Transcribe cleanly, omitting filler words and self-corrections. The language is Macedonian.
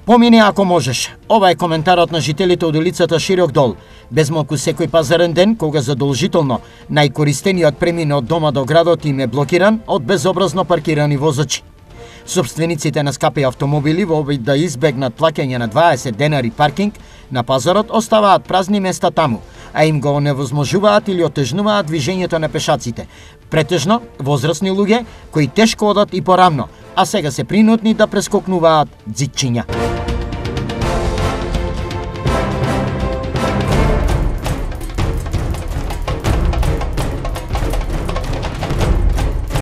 Помини ако можеш. Ова е коментарот на жителите од улицата Широк дол. Безмалку секој пазарен ден, кога задолжително најкористениот премин од дома до градот им е блокиран од безобразно паркирани возачи. Собствениците на скапи автомобили во обид да избегнат плаќање на 20 денари паркинг на пазарот оставаат празни места таму, а им го невозможуваат или отежнуваат движењето на пешаците. Претежно возрасни луѓе кои тешко одат и порамно, а сега се принудни да прескокнуваат ѕидчиња.